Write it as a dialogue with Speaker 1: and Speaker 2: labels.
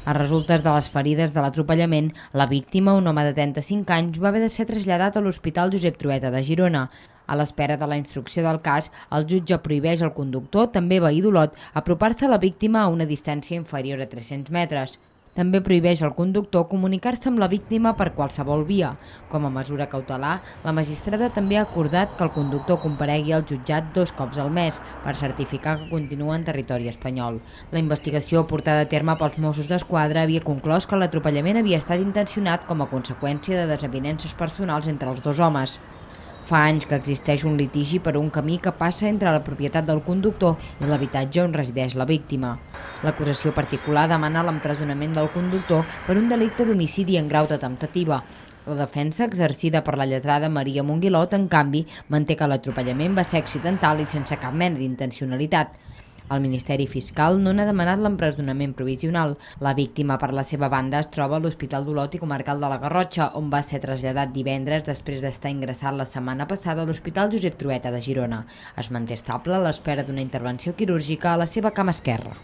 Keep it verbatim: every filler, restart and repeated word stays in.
Speaker 1: A resultes de les ferides de l'atropellament, la víctima, un home de trenta-cinc anys, va haver de ser traslladat a l'Hospital Josep Trueta de Girona. A l'espera de la instrucció del cas, el jutge prohibeix al conductor, també veí d'Olot, apropar-se a la víctima a una distància inferior a tres-cents metres. També prohibeix al conductor comunicar-se amb la víctima per qualsevol via. Com a mesura cautelar, la magistrada també ha acordat que el conductor comparegui al jutjat dos cops al mes per certificar que continua en territori espanyol. La investigació portada a terme pels Mossos d'Esquadra havia conclòs que l'atropellament havia estat intencionat com a conseqüència de desavinences personals entre els dos homes. Fa anys que existeix un litigi per un camí que passa entre la propietat del conductor i l'habitatge on resideix la víctima. L'acusació particular demana l'empresonament del conductor per un delicte d'homicidi en grau de temptativa. La defensa, exercida per la lletrada Maria Monguilot, en canvi, manté que l'atropellament va ser accidental i sense cap mena d'intencionalitat. El Ministeri Fiscal no n'ha demanat l'empresonament provisional. La víctima, per la seva banda, es troba a l'Hospital d'Olot i Comarcal de la Garrotxa, on va ser traslladat divendres després d'estar ingressat la setmana passada a l'Hospital Josep Trueta de Girona. Es manté estable a l'espera d'una intervenció quirúrgica a la seva cama esquerra.